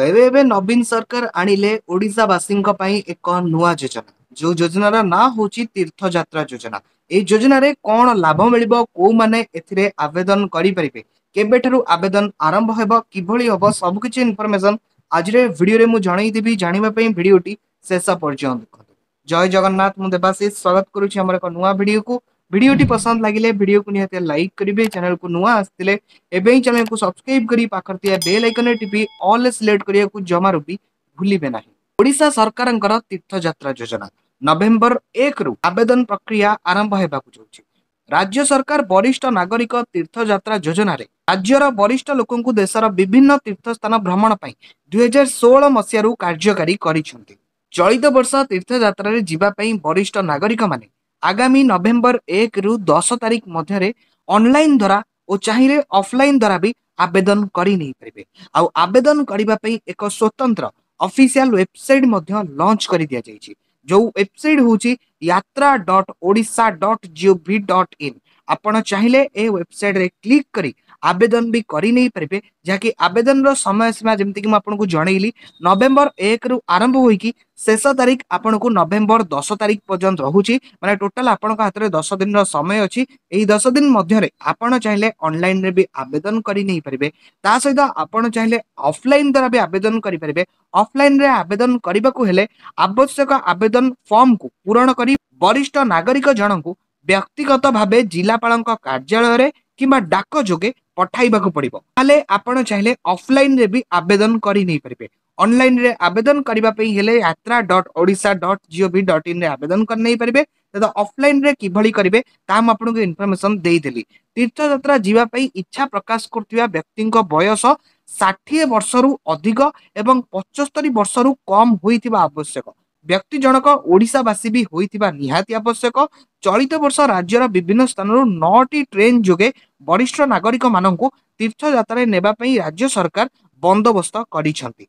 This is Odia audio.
ଏବେ ଏବେ ନବୀନ ସରକାର ଆଣିଲେ ଓଡ଼ିଶାବାସୀଙ୍କ ପାଇଁ ଏକ ନୂଆ ଯୋଜନା, ଯୋଉ ଯୋଜନାର ନାଁ ହଉଛି ତୀର୍ଥଯାତ୍ରା ଯୋଜନା। ଏଇ ଯୋଜନାରେ କଣ ଲାଭ ମିଳିବ, କୋଉମାନେ ଏଥିରେ ଆବେଦନ କରିପାରିବେ, କେବେଠାରୁ ଆବେଦନ ଆରମ୍ଭ ହେବ, କିଭଳି ହବ, ସବୁକିଛି ଇନଫର୍ମେସନ ଆଜିର ଏ ଭିଡିଓରେ ମୁଁ ଜଣେଇଦେବି। ଜାଣିବା ପାଇଁ ଭିଡିଓଟି ଶେଷ ପର୍ଯ୍ୟନ୍ତ ଦେଖନ୍ତୁ। ଜୟ ଜଗନ୍ନାଥ, ମୁଁ ଦେବାଶିଷ ସ୍ୱାଗତ କରୁଛି ଆମର ଏକ ନୂଆ ଭିଡିଓକୁ। ଭିଡିଓଟି ପସନ୍ଦ ଲାଗିଲେ ଭିଡିଓକୁ ନିହାତି ଲାଇକ୍ କରିବେ। ଚ୍ୟାନେଲକୁ ନୂଆ ଆସିଥିଲେ ଏବେ ହିଁ ଚ୍ୟାନେଲକୁ ସବସ୍କ୍ରାଇବ କରି ପାଖରେ ଥିବା ବେଲ୍ ଆଇକନରେ ଟିପି ଅଲ୍ ସିଲେକ୍ଟ କରିବାକୁ ଜମାରୁ ବି ଭୁଲିବେ ନାହିଁ। ଓଡ଼ିଶା ସରକାରଙ୍କର ତୀର୍ଥଯାତ୍ରା ଯୋଜନା ନଭେମ୍ବର 1ରୁ ଆବେଦନ ପ୍ରକ୍ରିୟା ଆରମ୍ଭ ହେବାକୁ ଯାଉଛି। ରାଜ୍ୟ ସରକାର ବରିଷ୍ଠ ନାଗରିକ ତୀର୍ଥଯାତ୍ରା ଯୋଜନାରେ ରାଜ୍ୟର ବରିଷ୍ଠ ଲୋକଙ୍କୁ ଦେଶର ବିଭିନ୍ନ ତୀର୍ଥସ୍ଥାନ ଭ୍ରମଣ ପାଇଁ 2016 ମସିହାରୁ କାର୍ଯ୍ୟକାରୀ କରିଛନ୍ତି। ଚଳିତ ବର୍ଷ ତୀର୍ଥଯାତ୍ରାରେ ଯିବା ପାଇଁ ବରିଷ୍ଠ ନାଗରିକମାନେ ଆଗାମୀ ନଭେମ୍ବର 1ରୁ 10 ତାରିଖ ମଧ୍ୟରେ ଅନଲାଇନ ଦ୍ୱାରା ଓ ଚାହିଁଲେ ଅଫଲାଇନ ଦ୍ୱାରା ବି ଆବେଦନ କରି ନେଇପାରିବେ। ଆଉ ଆବେଦନ କରିବା ପାଇଁ ଏକ ସ୍ୱତନ୍ତ୍ର ଅଫିସିଆଲ ୱେବସାଇଟ ମଧ୍ୟ ଲଞ୍ଚ କରି ଦିଆଯାଇଛି, ଯୋଉ ୱେବସାଇଟ ହଉଛି yatra.odisha.gov.in। ଆପଣ ଚାହିଁଲେ ଏ ୱେବସାଇଟରେ କ୍ଲିକ୍ କରି ଆବେଦନ ବି କରି ନେଇପାରିବେ, ଯାହାକି ଆବେଦନର ସମୟ ସୀମା ଯେମିତିକି ମୁଁ ଆପଣଙ୍କୁ ଜଣେଇଲି ନଭେମ୍ବର 1ରୁ ଆରମ୍ଭ ହୋଇକି ଶେଷ ତାରିଖ ଆପଣଙ୍କୁ ନଭେମ୍ବର 10 ତାରିଖ ପର୍ଯ୍ୟନ୍ତ ରହୁଛି। ମାନେ ଟୋଟାଲ ଆପଣଙ୍କ ହାତରେ 10 ଦିନର ସମୟ ଅଛି। ଏହି 10 ଦିନ ମଧ୍ୟରେ ଆପଣ ଚାହିଁଲେ ଅନଲାଇନରେ ବି ଆବେଦନ କରି ନେଇପାରିବେ, ତା ସହିତ ଆପଣ ଚାହିଁଲେ ଅଫଲାଇନ ଦ୍ୱାରା ବି ଆବେଦନ କରିପାରିବେ। ଅଫଲାଇନରେ ଆବେଦନ କରିବାକୁ ହେଲେ ଆବଶ୍ୟକ ଆବେଦନ ଫର୍ମକୁ ପୂରଣ କରି ବରିଷ୍ଠ ନାଗରିକ ଜଣଙ୍କୁ ବ୍ୟକ୍ତିଗତ ଭାବେ ଜିଲ୍ଲାପାଳଙ୍କ କାର୍ଯ୍ୟାଳୟରେ କିମ୍ବା ଡାକ ଯୋଗେ ପଠାଇବାକୁ ପଡିବ। ତାହେଲେ ଆପଣ ଚାହିଁଲେ ଅଫଲାଇନରେ ବି ଆବେଦନ କରି ନେଇପାରିବେ। ଅନଲାଇନରେ ଆବେଦନ କରିବା ପାଇଁ ହେଲେ yatra.odisha.gov.in ରେ ଆବେଦନ କରି ନେଇପାରିବେ। ତ ଅଫଲାଇନରେ କିଭଳି କରିବେ ତାହା ମୁଁ ଆପଣଙ୍କୁ ଇନଫର୍ମେସନ ଦେଇଦେଲି। ତୀର୍ଥଯାତ୍ରା ଯିବା ପାଇଁ ଇଚ୍ଛା ପ୍ରକାଶ କରୁଥିବା ବ୍ୟକ୍ତିଙ୍କ ବୟସ 60 ବର୍ଷରୁ ଅଧିକ ଏବଂ 75 ବର୍ଷରୁ କମ ହୋଇଥିବା ଆବଶ୍ୟକ। ବ୍ୟକ୍ତି ଜଣକ ଓଡ଼ିଶାବାସୀ ବି ହୋଇଥିବା ନିହାତି ଆବଶ୍ୟକ। ଚଳିତ ବର୍ଷ ରାଜ୍ୟର ବିଭିନ୍ନ ସ୍ଥାନରୁ 9ଟି ଟ୍ରେନ ଯୋଗେ ବରିଷ୍ଠ ନାଗରିକମାନଙ୍କୁ ତୀର୍ଥଯାତ୍ରାରେ ନେବା ପାଇଁ ରାଜ୍ୟ ସରକାର ବନ୍ଦୋବସ୍ତ କରିଛନ୍ତି।